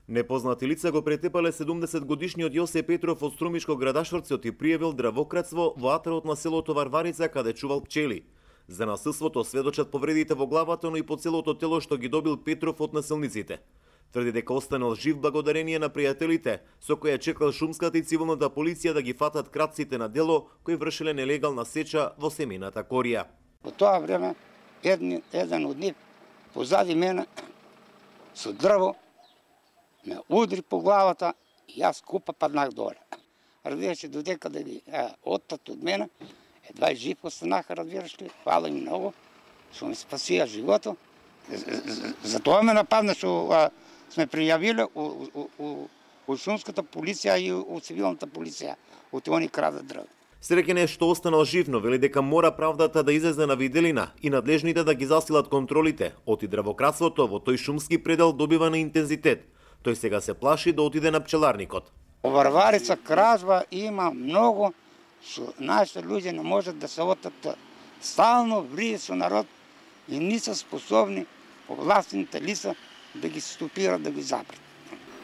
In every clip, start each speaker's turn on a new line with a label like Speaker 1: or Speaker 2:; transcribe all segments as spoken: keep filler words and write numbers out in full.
Speaker 1: Непознати лица го претепале седумдесет годишниот Јосе Петров од Струмишко градашорцот и пријавил дравократство во атарот на селото Варварица каде чувал пчели. За насилството сведочат повредите во главата, но и по целото тело што ги добил Петров од насилниците. Тврди дека останал жив благодарение на пријателите, со кои чекал шумската и цивилната полиција да ги фатат кратците на дело кои вршеле нелегална сеча во семејната корија.
Speaker 2: Во тоа време еден, еден од нив позади мене со дрво ме удри по главата и јас купа паднах доле. Разбираш, додека да ги оттат од мене, едва и жив останаха, разбираш ли, фала ми многу, што ми спасија живото. Затоа ме нападна што сме пријавиле у, у, у, у шумската полиција и у цивилната полиција, од они крадат дрво.
Speaker 1: Среќен е што останал жив, но вели дека мора правдата да излезе на виделина и надлежните да ги засилат контролите. Оти дравократството во тој шумски предел добива на интензитет. Тој сега се плаши да отиде на пчеларникот.
Speaker 2: Во Варварица кражба има многу, што нашите луѓе не можат да се отат. Стално врие со народ и не се способни властните лица да ги стопират, да ги запрат.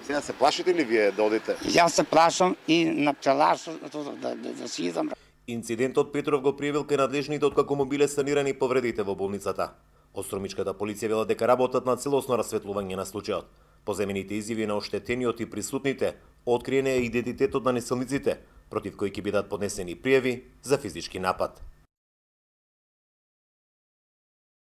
Speaker 1: Сега се плашите ли вие да одите?
Speaker 2: Јас се плашам и на пчеларството да, да, да си идам.
Speaker 1: Инцидентот Петров го пријавил кај надлежните откако му биле санирани повредите во болницата. Од Струмичката полиција вела дека работат на целосно расветлување на случајот. По земените изјави на оштетениот и присутните, откриен е идентитетот на насилниците, против кои ќе бидат поднесени пријави за физички напад.